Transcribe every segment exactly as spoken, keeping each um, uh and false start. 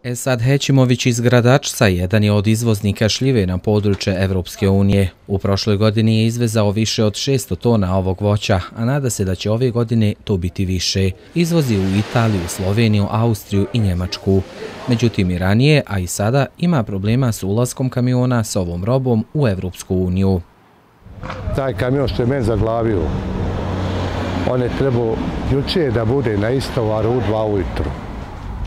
Esad Hećimović iz Gradačca jedan je od izvoznika šljive na područje Evropske unije. U prošloj godini je izvezao više od šesto tona ovog voća, a nada se da će ove godine to biti više. Izvozi u Italiju, Sloveniju, Austriju i Njemačku. Međutim i ranije, a i sada, ima problema s ulaskom kamiona s ovom robom u Evropsku uniju. Taj kamion što je meni zaglavio, on je trebao juče da bude na istovaru u dva ujutru.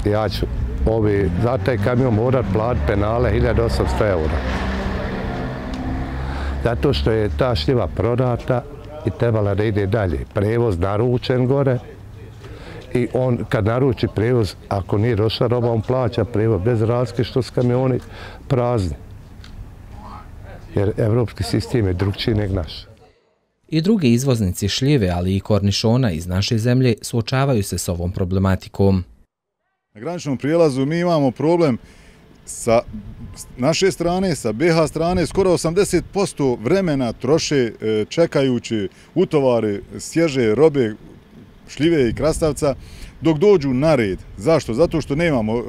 Ja ću Ovi, za taj kamion morat platiti penale hiljadu osamsto eura. Zato što je ta šljiva prodata i trebala da ide dalje. Prevoz naručen gore i on kad naruči prevoz, ako nije došla roba, on plaća prevoz bez razlike što su kamioni prazni. Jer evropski sistem je drugčiji nego naš. I drugi izvoznici šljive, ali i kornišona iz naše zemlje suočavaju se s ovom problematikom. Na graničnom prijelazu mi imamo problem sa naše strane, sa be ha strane, skoro osamdeset posto vremena troše čekajući utovare svježe robe, šljive i krastavca, dok dođu na red. Zašto? Zato što nemamo e, e,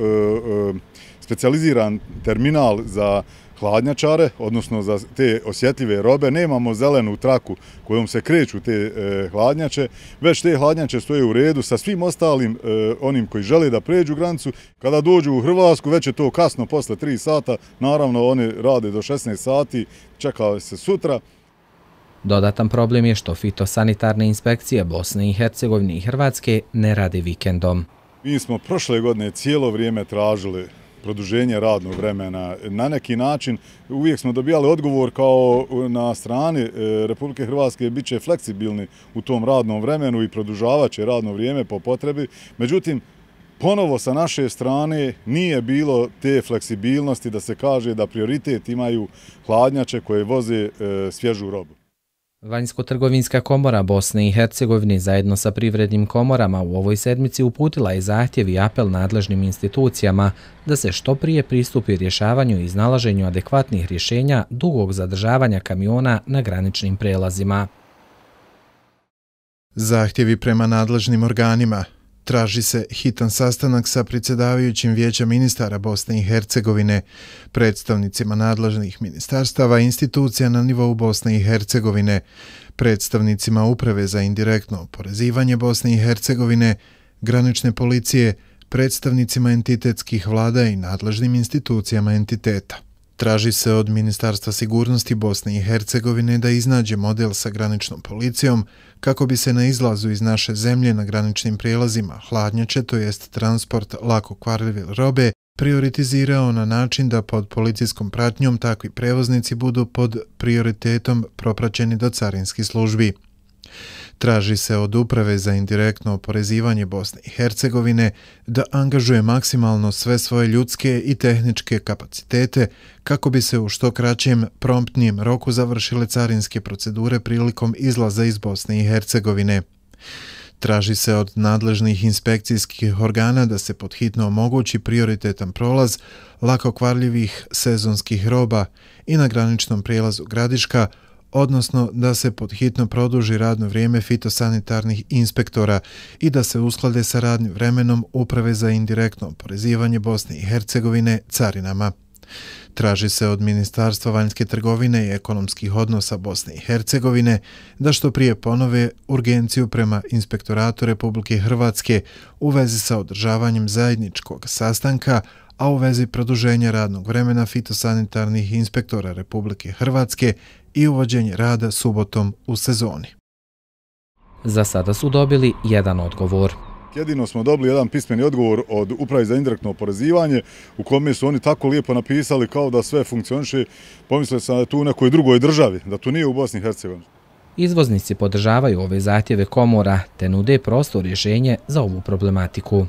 specijaliziran terminal za hladnjačare, odnosno za te osjetljive robe, nemamo zelenu traku kojom se kreću te e, hladnjače, već te hladnjače stoje u redu sa svim ostalim e, onim koji žele da pređu granicu. Kada dođu u Hrvatsku, već je to kasno posle tri sata, naravno oni rade do šesnaest sati, čeka se sutra. Dodatan problem je što fitosanitarne inspekcije Bosne i Hercegovine i Hrvatske ne rade vikendom. Mi smo prošle godine cijelo vrijeme tražili produženje radnog vremena. Na neki način uvijek smo dobijali odgovor kao na strani Republike Hrvatske bit će fleksibilni u tom radnom vremenu i produžavat će radno vrijeme po potrebi. Međutim, ponovo sa naše strane nije bilo te fleksibilnosti da se kaže da prioritet imaju hladnjače koje voze svježu robu. Vanjsko-trgovinska komora Bosne i Hercegovine zajedno sa privrednim komorama u ovoj sedmici uputila je zahtjev i apel nadležnim institucijama da se što prije pristupi rješavanju i iznalaženju adekvatnih rješenja dugog zadržavanja kamiona na graničnim prelazima. Zahtjevi prema nadležnim organima. Traži se hitan sastanak sa predsjedavajućim Vijeća ministara Bosne i Hercegovine, predstavnicima nadležnih ministarstava i institucija na nivou Bosne i Hercegovine, predstavnicima Uprave za indirektno oporezivanje Bosne i Hercegovine, granične policije, predstavnicima entitetskih vlada i nadležnim institucijama entiteta. Traži se od Ministarstva sigurnosti Bosne i Hercegovine da iznađe model sa graničnom policijom kako bi se na izlazu iz naše zemlje na graničnim prijelazima hladnjače, to jest transport lako kvarljive robe, prioritizirao na način da pod policijskom pratnjom takvi prevoznici budu pod prioritetom propraćeni do carinskih službi. Traži se od Uprave za indirektno oporezivanje Bosne i Hercegovine da angažuje maksimalno sve svoje ljudske i tehničke kapacitete kako bi se u što kraćem, promptnijem roku završile carinske procedure prilikom izlaza iz Bosne i Hercegovine. Traži se od nadležnih inspekcijskih organa da se podhitno omogući prioritetan prolaz lako kvarljivih sezonskih roba i na graničnom prijelazu Gradiška, odnosno da se podhitno produži radno vrijeme fitosanitarnih inspektora i da se usklade sa radnim vremenom Uprave za indirektno oporezivanje Bosne i Hercegovine carinama. Traži se od Ministarstva vanjske trgovine i ekonomskih odnosa Bosne i Hercegovine da što prije ponove urgenciju prema Inspektoratu Republike Hrvatske u vezi sa održavanjem zajedničkog sastanka, a u vezi produženja radnog vremena fitosanitarnih inspektora Republike Hrvatske i uvođenje rada subotom u sezoni. Za sada su dobili jedan odgovor. Jedino smo dobili jedan pismeni odgovor od Uprave za indirektno oporezivanje u kome su oni tako lijepo napisali kao da sve funkcioniše. Pomislili sam da je tu u nekoj drugoj državi, da tu nije u Bosni i Hercegovini. Izvoznici podržavaju ove zahtjeve komora te nude prosto rješenje za ovu problematiku.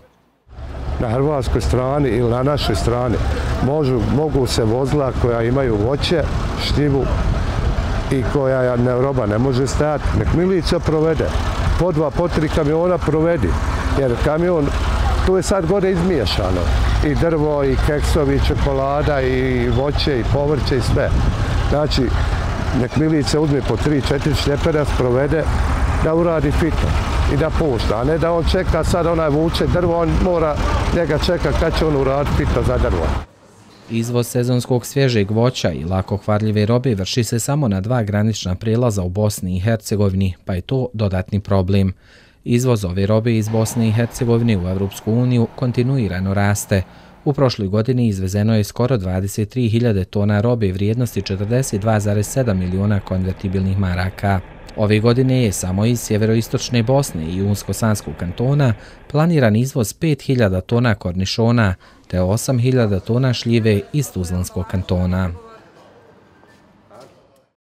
Na hrvatskoj strani ili na našoj strani možu, mogu se vozila koja imaju voće, šljivu i koja ne, roba ne može stajati. Nek milicija provede. Po dva, po tri kamiona provedi. Jer kamion, tu je sad gore izmiješano. I drvo, i keksovi, i čokolada, i voće, i povrće, i sve. Znači, nek milicija uzme po tri, četiri šljepera, provede da uradi fito. i da pušta, a ne da on čeka sad onaj vuče drvo, on mora njega čeka kad će on uraditi pito za drvo. Izvoz sezonskog svježeg voća i lako kvarljive robe vrši se samo na dva granična prijelaza u Bosni i Hercegovini, pa je to dodatni problem. Izvoz ove robe iz Bosne i Hercegovine u Evropsku uniju kontinuirano raste. U prošloj godini izvezeno je skoro dvadeset tri hiljade tona robe vrijednosti četrdeset dva zarez sedam miliona konvertibilnih maraka. Ove godine je samo iz sjeveroistočne Bosne i Unsko-Sanskog kantona planiran izvoz pet hiljada tona kornišona te osam hiljada tona šljive iz Tuzlanskog kantona.